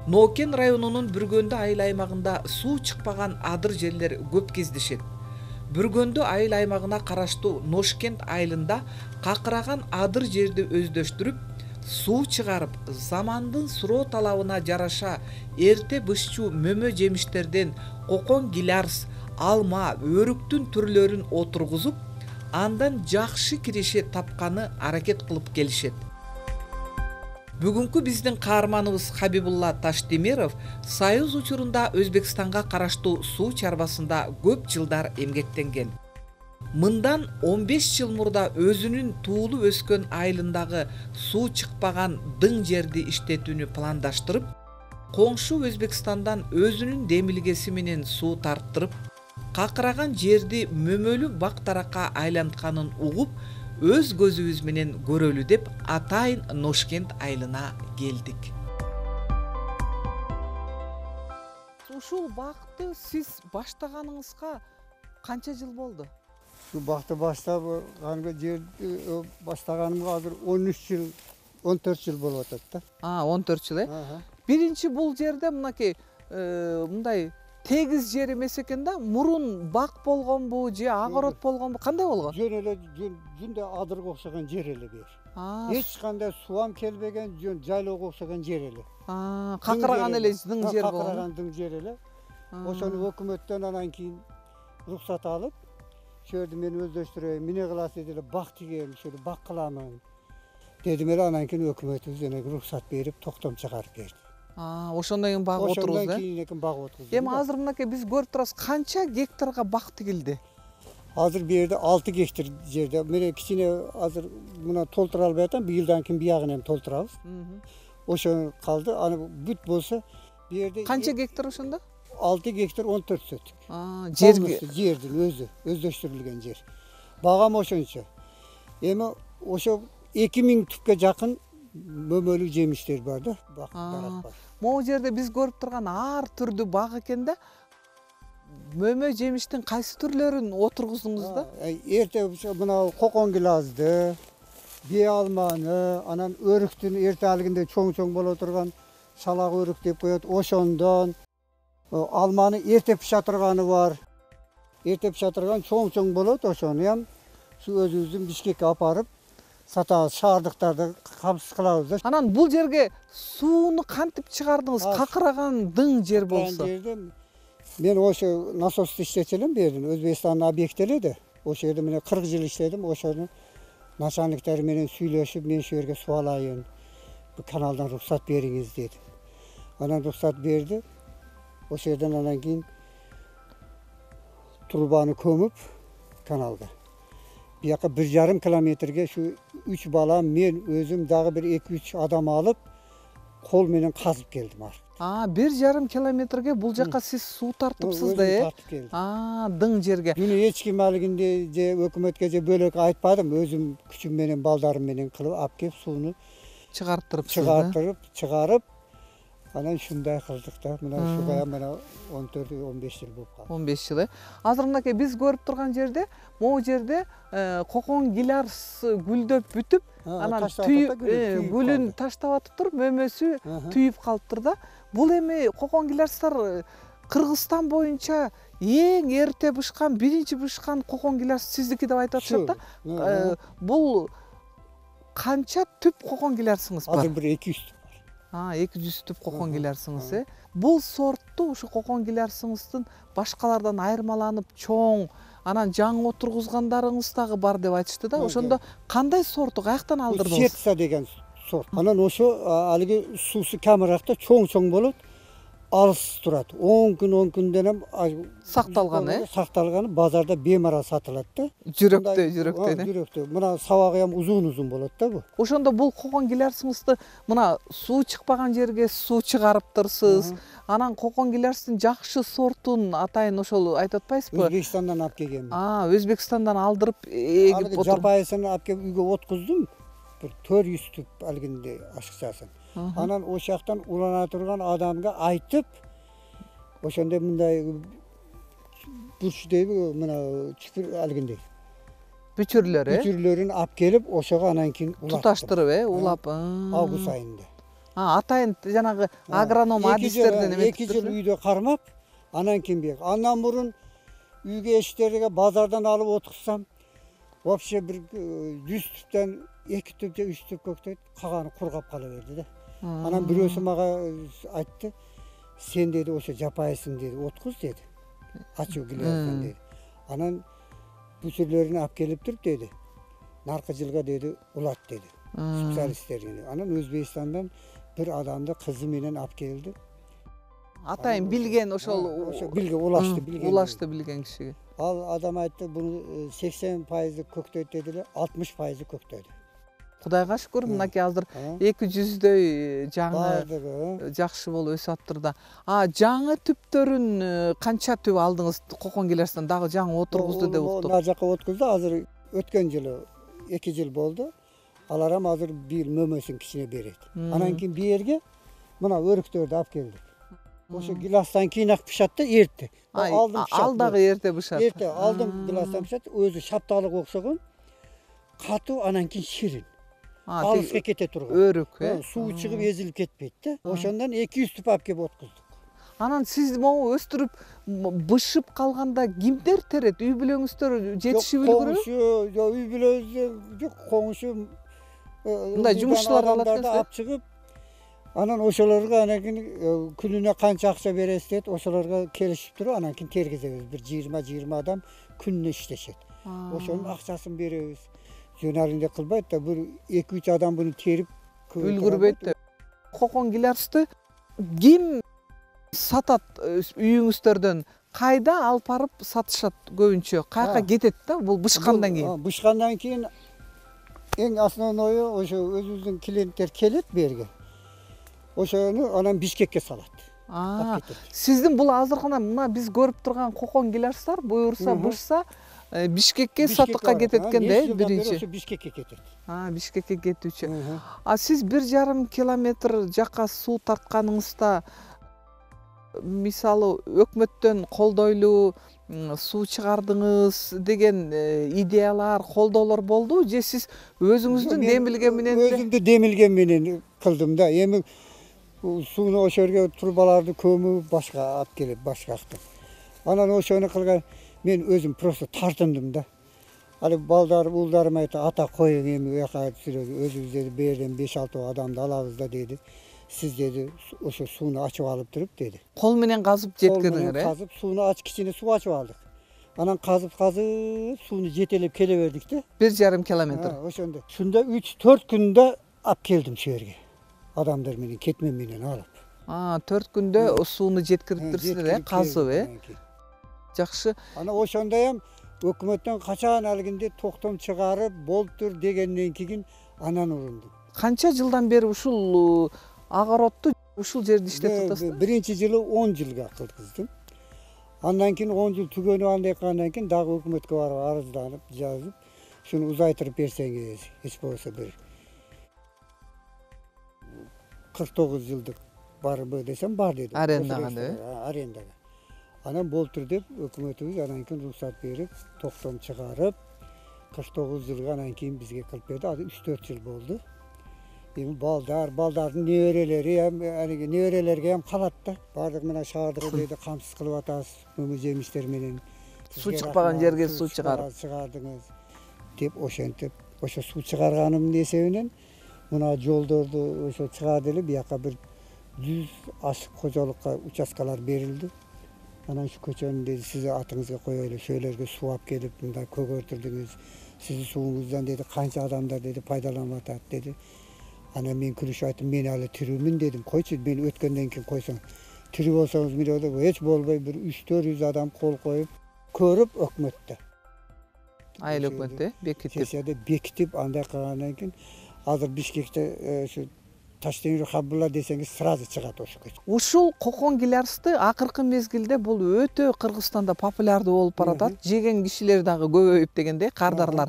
Нокен районунун Бүргөндү айыл аймагында суу чыкпаган адыр жерлер көп кездешет. Бүргөндү айыл аймагына караштуу Ношкент айылында какыраган адыр жерди өздөштүрүп, суу чыгарып, замандын суроо талабына жараша эрте бышчу мөмө жемиштерден кокон гилярс, алма, өрүктүн түрлөрүн отургузуп, андан жакшы киреше тапканы аракет кылып келишет. Бүгүнкү биздин каарманыбыз Хабибулла Таштемиров Союз учурунда Өзбекстанга караштуу суу чарбасында көп жылдар эмгектенген. Мындан 15 жыл мурда өзүнүн туулуп өскөн айылындагы суу чыкпаган дың жерди иштетүүнү пландаштырып, коңшу Өзбекстандан өзүнүн демилгеси менен суу тарттырып, какыраган жерди мөмөлүү бак таракка айлантканын угуп, өз көзүбүз менен көрөлү деп атайын Ношкент айылына келдик. Ушул бакты сиз баштаганыңызга канча жыл болду? Şu bakta başlaganга жерди баштаганымга азыр 13 жыл, 14 жыл болуп атат да. 14 жыл, Биринчи бул жерде мынакей мындай тегиз жер эмес экен да, мурун бак болгонбу же огород болгонбу, кандай болгон? Жөн эле жүндө адырга окшогон жер эле бер. Эч кандай суам келбеген, жөн жайлоого окшогон жер эле. Какыраган эле дың жер болгон. Какыраган дың жер эле. Ошону өкмөттөн анан кийин уруксат алып, шерди мен өздөштүрөйүн, эмне кыласыз деле бак тигем, ошол бак кыламын дедим эле. Анан кийин өкмөтүбүз уруксат берип, токтом чыгарып берди. Ошондон кийин баг отургуз, Ошондон кийин баг отургуз. Эми азыр мынакей биз көрүп турабыз, канча гектарга бак тигилди? Азыр бу жерде 6 гектар жерде. Мен кичине азыр мына толтура албай атам, быйылдан кийин биягын эми толтурабыз. Ошо калды. Аны бүт болсо бу жерде канча гектар ошондо? 6 гектар 14 сотик. Жердин өзү, өздөштүрүлгөн жер. Багам ошончо. Эми ошо 2000 түпкө жакын мөмөлүү жемиштер бар да, бак дарак бар. Могу жерде биз көрүп турган ар түрдүү бак экен да. Мөмө жемиштин кайсы түрлөрүн отургуздуңуз да? Эрте мына кокон гилазды, бие алманы, анан өрүктүн эрте алгинде чоң боло турган шалак өрүк деп коет, ошондон алманы эрте пыша турганы бар. Эрте пыша турган чоң болот, ошону ham өзүбүздүн Бишкекке апарып сатабыз, шаардыктарды камсыз кылабыз да. Анан бул жерге сууну кантип чыгардыңыз? Какыраган дың жер болсо. Мен ошо насосты иштечү элем бердим. Өзбекстандын объекти эле да. Ошол жерде мен 40 жыл иштедим. Ошону начальниктер менен сүйлөшүп, мен ошол жерге суу алайын, бу каналдан уруксат бериңиз дедим. Анан уруксат берди. Ошол жерден анан кийин трубаны көмүп каналга. Бияка 1,5 километрге şu 3 балам, мен өзүм дагы бир 2-3 адам алып, кол менен казып келдим аркы. 1,5 километрге бул жака сиз суу тартыпсыз да, тартып келдим. Дың жерге. Муну эч ким алгинде же өкмөткө же бөлөк айтпадым, өзүм күчүм менен, балдарым менен кылып алып келип сууну чыгарып, анан ушундай кылдык да. Мына ушуга мына 14-15 жыл болуп калды. 15 жыл. Азыр мынакей биз көрүп турган жерде, могу жерде кокон гилярс гүлдөп бүтүп, анан гүлүн таштап атыптыр, мөмөсү түйүп калыптыр да. Бул эми кокон гилярстар Кыргызстан боюнча эң эрте бышкан, биринчи бышкан кокон гилярс сиздики деп айтып атышат да. Бул канча түп кокон гилярсыңыз бар? Азыр бир 200 түп. 200 түп кокон гилярсыңыз, Бул сортту, ушу кокон гилярсыңыздын башкалардан айырмаланып чоң, анан жаңы отургузгандарыңыз дагы бар деп айтышты да. Ошондо кандай сорту каяктан алдырдыңыз? Сетса деген сорт. Анан ошо алиги суусу камыракта чоң болот, алыс турат. 10 күндөн сакталганы, базарда бемарал сатылат да. Жүрөктөй. Мына сабагы ham uzun болот да бу. Ошондо бул кокон гилярсыңызды мына суу чыкпаган жерге суу чыгарыптырсыз. Анан кокон гилярстын жакшы сортун атайын ошол айтып атпайсызбы? Өзбекстандан алып келгем. Өзбекстандан алдырып эгип отуруп. Жапайысын алып келип үйгө откуздум. Бир 400 түп алгинде ашыкчасын. Анан ошол жактан улана турган адамга айтып, ошондой мындай бурч дейби, мына чүпүр алгиндей. Бүчүрлөрүн алып келип, ошого анан кийин туташтырып, улап. Август айында. Атайын жанагы агроном адистерден эметип 2 жыл үйдө кармап, анан кийин бияк. Андан мурун үйгө эшиктерге базардан алып отурсам, вообще бир 100 түптөн 2 түп же 3 түп көктөйт, калганы кургап кала берди да. Анан бирөөсү мага айтты, сен деди ошо жапайсың деди, откуз деди. Ачуу келип деди. Анан бүчүрлөрүн алып келип туруп деди. Наркы жылга деди улат деди. Специалисттер деди. Анан Өзбекстандан бир адамды кызы менен алып келди. Атайын билген ошол билген улашты билген кишиге. Ал адам айтты, буну 80% көктөйт деди эле, 60% көктөдү. Кудайга шүкүр, мынакей азыр 200дөй жаңы жакшы болуп өсүп аптыр да. Жаңы түптөрүн канча түп алдыңыз Кокон Келерстен? Дагы жаңы отургузду деп уктум. Нар жака отургузду, азыр өткөн жылы 2 жыл болду. Алар ham азыр бир мөмөсүн кичине берет. Анан кийин биерге мына өрүктөрдү алып келдик. Ошо гиластан кийин ак пышат да, эрте. Ал дагы эрте бышат. Эрте алдым гиластан пышат, өзү шапталык окшогон, катуу, анан кийин ширин. Алыска кете турган. Өрүк, суу чыгып эзилип кетпейт да. Ошондон 200 түп алып келип откуздук. Анан сиз могу өстүрүп бышып калганда кимдер терет? Үй бүлөңүздөр жетишип үлгүрөбү? Коңшу, үй бүлөбүз жок, коңшу мындай жумушчуларды алат экенсиз, алып чыгып, анан ошолорго анан кийин күнүнө канча акча бересиз дейт, ошолорго келишип туруп, анан кийин тергизебиз. Бир 20 адам күнүнө иштешет. Ошонун акчасын беребиз. Жөнөрүндө кылбайт да, бир 2-3 адам буну терип үлгүрбөйт да. Кокон Келерсти ким сатат үйүңүздөрдөн? Кайда алып барып сатышат көбүнчө? Каяка кетет да бул бышкандан кийин? Бышкандан кийин эң основною ошо өзүбүздүн клиенттер келет берге. Ошону анан Бишкекке салат. Сиздин бул азыркына мына биз көрүп турган Кокон Келерстер буюрса бышса Бишкекке сатыкка кетет экен да, биринчи. Ошо Бишкекке кетет. Бишкекке кетүүчү. Сиз 1,5 километр жакка суу тартканыңызда мисалы өкмөттөн колдойлуу суу чыгардыңыз деген идеялар, колдоолор болду же сиз өзүңүздүн демилге менен? Өзүмдүн демилгем менен кылдым да. Эми сууну ошо жерге трубаларды көмүп башка алып келип башкактым. Анан ошону кылган мен өзүм просто тартындым да. Али балдар, уулдарым айтты, ата коюң эми уяка өзүбүз деди, берден 5-6 адамды алабыз да деди. Сиз деди ошо сууну ачып алып туруп деди. Кол менен казып жеткириңер, казып сууну кичине суу ачып алдык. Анан казып сууну жетелеп келе бердик да. 1,5 километр. Ошондо. Шунда 3-4 күндө алып келдим şu жерге. Адамдар менен, кетмен менен алып. 4 күндө сууну жеткириптирсиздер, казып, Жакшы. Анан ошондой ham өкмөттөн качан алгинде токтом чыгарып болуптур дегенден кийин анан урундум. Канча жылдан бери ушул огородду ушул жерде иштетип атасыздар? Биринчи жылы 10 жылга кылгыздым. Андан кийин 10 жыл түгөнүп андан кийин дагы өкмөткө барып арызданып, жазып, шуну узайтырып берсеңиз, эч болбосо бир 49 жылдык барбы десем бар деди. Арендага деп? Арендага. Анан болтур деп өкмөтүбүз анан кийин уруксат берип, токтом чыгарып, 49 жылга анан кийин бизге кылып берди. Азыр 3-4 жыл болду. Эми балдардын неберелерге ham калат да. Бардык мына шаардыгы деди, камсыз кылып атасыз, мөмө жемиштер менен. Суу чыкпаган жерге суу чыгардыңыз деп ошентип, ошо суу чыгарганымдын эсебинен мына жолдорду ошо чыгарды эле, бияка бир 100 ашык кожолукка участкалар берилди. Анан şu көчөнү деди, сиздин атыңызга коелу, шөлөргө суу алып келип, мындай көгөртүрдүңүз. Сиздин сууңуздан деди, канча адамдар деди пайдаланып атат деди. Анан мен күлүшүп айттым, мен алы тирүүмүн дедим. Койчу, мен өткөндөн кийин койсоң. Тирүү болсоңуз мындай деп, эч болбой бир 300-400 адам кол коюп, көрүп өкмөттө. Айыл өкмөттө бекитип. Сесияда бекитип, андай кылгандан кийин азыр Бишкекте ошо Таштемир Хаббулла десеңиз сразу чыгат ошо көчө. Ушул Кокон Келерсти акыркы мезгилде бул өтө Кыргызстанда популярдуу болуп баратат. Жеген кишилер дагы көбөйүп дегенде, кардарлар.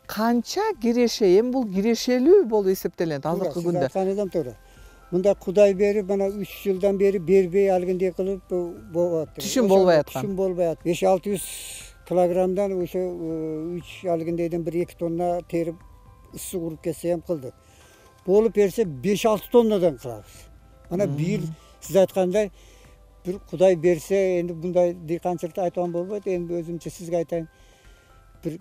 Канча киреше, эми бул кирешелүү болуп эсептелет азыркы күндө. Канадан туура. Мында Кудай берип, мына 3 жылдан бери бербей алгындай кылып болуп атат. Түшүм болбой аткан. Түшүм болбой атат. 500-600 килограммдан ошо 3 алгындайдан 1-2 тонна терип ыссы куруп кетсе ham кылды. болуп берсе 5-6 тоннадан кылабыз. Ана бийил сиз айткандай бир Кудай берсе, энди мындай дыйканчылыкты айтпаган болбойт. Энди өзүмчө сизге айтайын, бир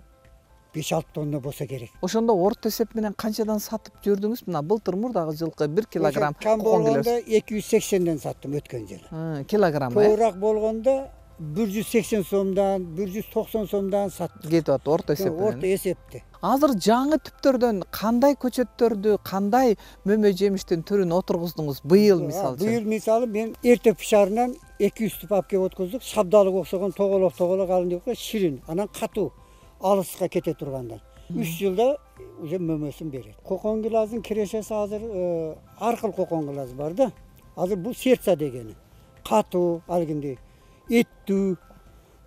5-6 тонна болсо керек. Ошондо орто эсеп менен канчадан сатып жүрдүңүз? Мына былтыр мурдагы жылкы 1 килограмм кам болгондо 280ден саттым өткөн жылы. Килограмм. Көбүрөөк болгондо 180 сомдон, 190 сомдон саттым. Кетип атат орто эсеп менен. Орто эсепти. Азыр жаңы түптөрдөн кандай көчөттөрдү, кандай мөмө жемиштин түрүн отургуздуңуз быйыл мисалы үчүн? Быйыл мисалы мен эрте пышарынан 200 түп алып келип откуздук. Шабдалык окшогон тоголок алын деп коет, ширин, анан катуу, алыска кете тургандар. 3 жылда уже мөмөсүн берет. Кокон гилаздын кирешеси азыр ар кыл кокон гилаз бар да. Азыр бул сердца дегени. Катуу, алгиндей, эттүү.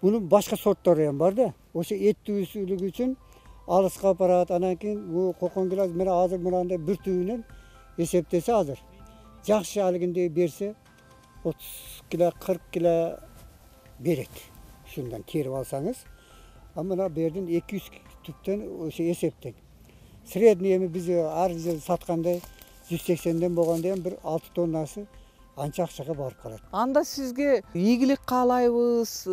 Бунун башка сорттору ham бар да. Ошо эттүүсүлүгү үчүн алыска барат. Анан кийин бул кокон гилаз менен азыр мынандай бир түбүнөн эсептесе азыр жакшы алгиндей берсе 30 кило, 40 кило берет. Ушундан терип алсаңыз. А мына бердин 200 түптөн ошо эсептен. Средний эми биз ар жыл саткандай 180ден болгондо ham бир 6 тоннасы анча акчага барып калат. Анда сизге ийгилик каалайбыз.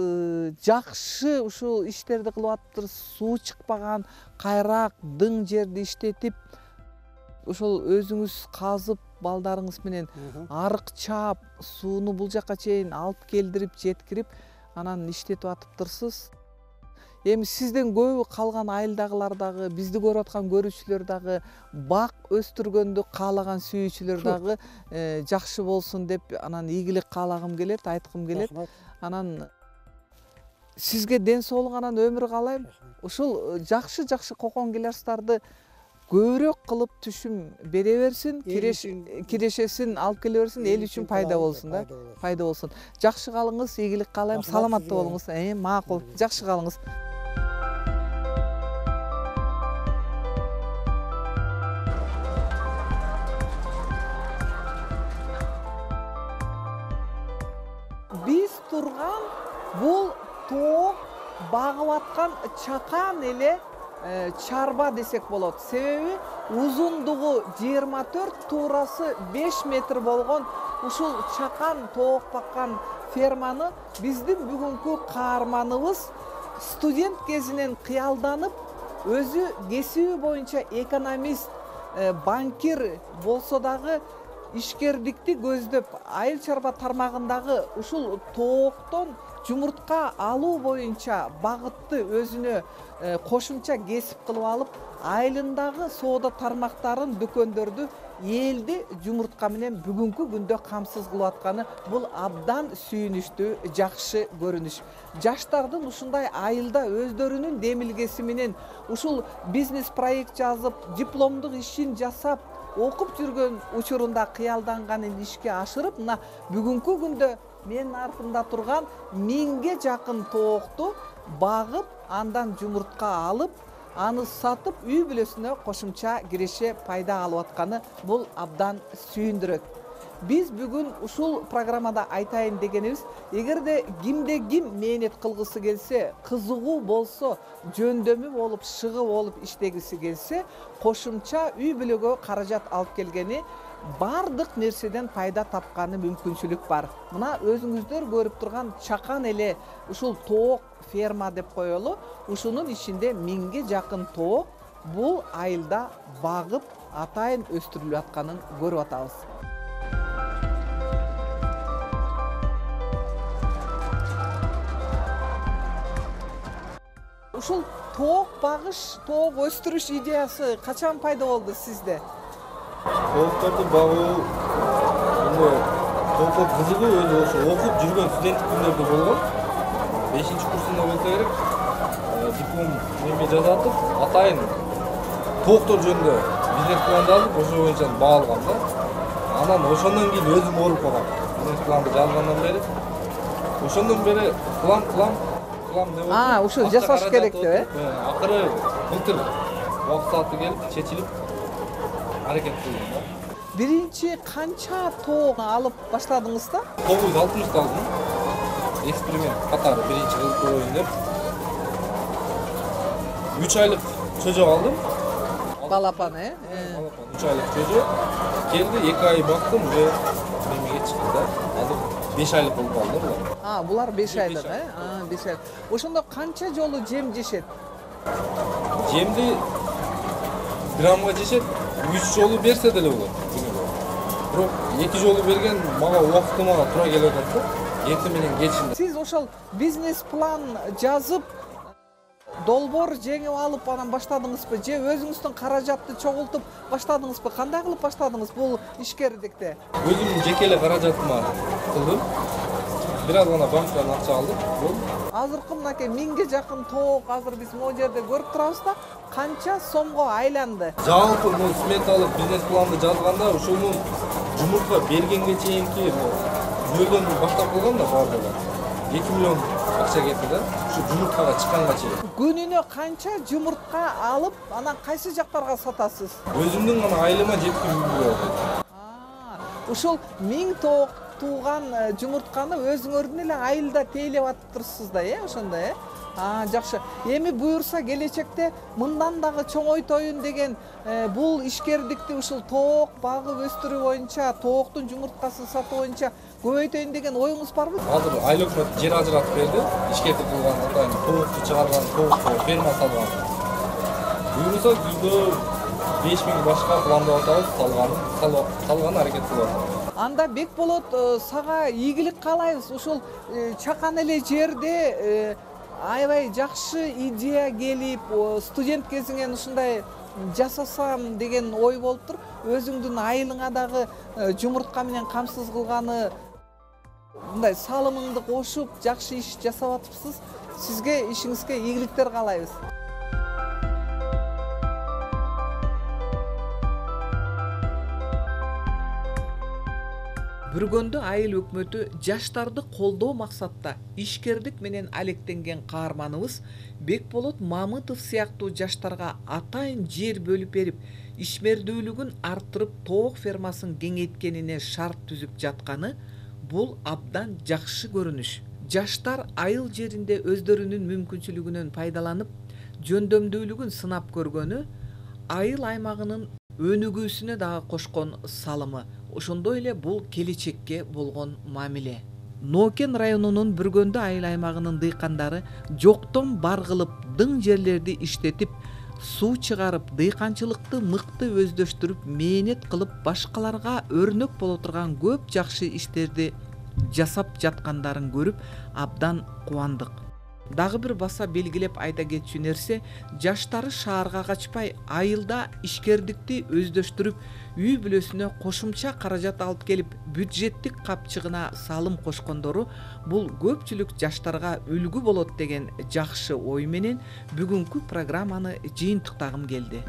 Жакшы ушул иштерди кылып атыптыр. Суу чыкпаган, кайрак, дың жерди иштетип, ошол өзүңүз казып балдарыңыз менен арык чаап, сууну бул жакка чейин алып келдирип, жеткирип, анан иштетип атыптырсыз. Эми сизден көбү калган айылдагылар дагы, бизди көрүп аткан көрүүчүлөр дагы, бак өстүргөндү каалаган сүйүүчүлөр дагы жакшы болсун деп анан ийгилик каалагым келет, айткым келет. Анан сизге ден соолук, анан өмүр каалайм. Ушул жакшы кокон гилаздарды көбүрөөк кылып түшүм бере берсин, кирешесин алып келе берсин, эл үчүн пайда болсун да. Пайда болсун. Жакшы калыңыз, ийгилик каалайм, саламаттуу болуңуз. Макул, жакшы калыңыз. Биз турган бул тоок багып аткан чакан эле чарба десек болот. Себеби узундугу 24, туурасы 5 метр болгон ушул чакан тоок баккан ферманы биздин бүгүнкү каарманыбыз студент кезинен кыялданып, өзү кесиби боюнча экономист, банкир болсо дагы ишкердикти көздөп, айыл чарба тармагындагы ушул тооктон жумуртка алуу боюнча багытты өзүнө кошумча кесип кылып алып, айылындагы соода тармактарын, дүкөндөрдү элди жумуртка менен бүгүнкү күндө камсыз кылып атканы бул абдан сүйүнүчтүү, жакшы көрүнүш. Жаштардын ушундай айылда өздөрүнүн демилгеси менен ушул бизнес проект жазып, дипломдук ишин жасап, окуп жүргөн учурунда кыялданганын ишке ашырып, мына бүгүнкү күндө менин артымда турган 1000ге жакын тоокту багып, андан жумуртка алып, аны сатып, үй бүлөсүнө кошумча киреше пайда алып атканы бул абдан сүйүндүрөт. Биз бүгүн ушул программада айтайын дегенибиз, эгерде кимде ким мээнет кылгысы келсе, кызыгуу болсо, жөндөмү болуп, шыгы болуп иштегиси келсе, кошумча үй бүлөгө каражат алып келгени, бардык нерседен пайда тапканы мүмкүнчүлүк бар. Мына өзүңүздөр көрүп турган чакан эле ушул тоок ферма деп коелу, ушунун ичинде 1000ге жакын тоок бул айылда багып, атайын өстүрүлүп атканын көрүп атабыз. Ушул тоок багыш, тоок өстүрүш идеясы качан пайда болду сизде? Тоокторду багуу тоокко кызыгуу өзү ошо окуп жүргөн студенттик күндөрдө болгон. 5-курсунда болсо керек. Диплом неме жазатып, атайын тооктор жөнүндө бизнес план жазып, ошо боюнча баа алгам да. Анан ошондон кийин өзүм ооруп калгам. Бизнес планды жазгандан бери ошондон бери план деп. Ушу жасаш керек деп, Акыры былтыр убакыт сааты келип, чечилип аракет кылдым да. Биринчи канча тоок алып башладыңыз да? 960 алдым. Эксперимент катары биринчи кылып көрөйүн деп. 3 айлык чөжөк алдым. балапан, Балапан 3 айлык чөжө. Келди, 2 ай бактым, уже немеге чыкты да. Азыр 5 айлык болуп калды булар. Булар 5 айлык, 5 айлык. Ошондо канча жолу жем жешет? Жемди граммга жешет, 3 жолу берсе деле болот күнүгө. Бирок 2 жолу берген мага убактыма туура келип атат да. Эртең менен кечинде. Сиз ошол бизнес план жазып, долбоор жеңип алып анан баштадыңызбы же өзүңүздүн каражатты чогултуп баштадыңызбы? Кандай кылып баштадыңыз бул ишкердикти? Өзүмдүн жеке эле каражатыма кылдым. Бир аз гана банктан акча алдым. Азыркы мынакей 1000ге жакын тоок азыр биз могу жерде көрүп турабыз да, канча сомго айланды? Жалпы бул сметалык бизнес планды жазганда ушунун жумуртка бергенге чейинки нөлдөн баштап калган да баардыгы. 2 миллион акча кетти да. Ушу жумурткага чыкканга чейин. Күнүнө канча жумуртка алып, анан кайсы жактарга сатасыз? Өзүмдүн гана айлыма жеткирүү. Ушул 1000 тоок тууган жумуртканы өзүңөрдүн эле айылда тейлеп атыптырсыз да, ошондо, жакшы. Эми буюрса келечекте мындан дагы чоңойтоюн деген бул ишкердикти ушул тоок багып өстүрүү боюнча, тооктун жумурткасын сатуу боюнча көбөйтөйүн деген оюңуз барбы? Азыр айыл өкмөт жер ажыратып берди. Ишкердик кылган атайын тоокту чыгарган, тоокко ферма салган. Буюрса күздө 5000 башка пландап атабыз, салган аракет кылабыз. Анда Бекболот, сага ийгилик каалайбыз. Ушул чакан эле жерде аябай жакшы идея келип, студент кезиңен ушундай жасасам деген ой болуптур. Өзүңдүн айылыңа дагы жумуртка менен камсыз кылганы, мындай салымыңды кошуп, жакшы иш жасап атыпсыз. Сизге ишиңизге ийгиликтер каалайбыз. Бүргөндө айыл өкмөтү жаштарды колдоо максатта ишкердик менен алектенген каарманыбыз Бекболот Мамытов сыяктуу жаштарга атайын жер бөлүп берип, ишмердүүлүгүн арттырып, тоок фермасын кеңейткенине шарт түзүп жатканы бул абдан жакшы көрүнүш. Жаштар айыл жеринде өздөрүнүн мүмкүнчүлүгүнөн пайдаланып, жөндөмдүүлүгүн сынап көргөнү айыл аймагынын өнүгүүсүнө дагы кошкон салымы. Ошондой эле бул келечекке болгон мамиле. Нокен районунун Бүргөндө айыл аймагынын дыйкандары жоктон бар кылып дың жерлерди иштетип, суу чыгарып, дыйканчылыкты мыкты өздөштүрүп, мээнет кылып, башкаларга өрнөк боло турган көп жакшы иштерди жасап жаткандарын көрүп абдан кубандык. Дагы бир баса белгилеп айта кетчү нерсе, жаштары шаарга качпай, айылда ишкердикти өздөштүрүп, үй бүлөсүнө кошумча каражат алып келип, бюджеттик капчыгына салым кошкондору бул көпчүлүк жаштарга үлгү болот деген жакшы ой менен бүгүнкү программаны жыйынтыктагым келди.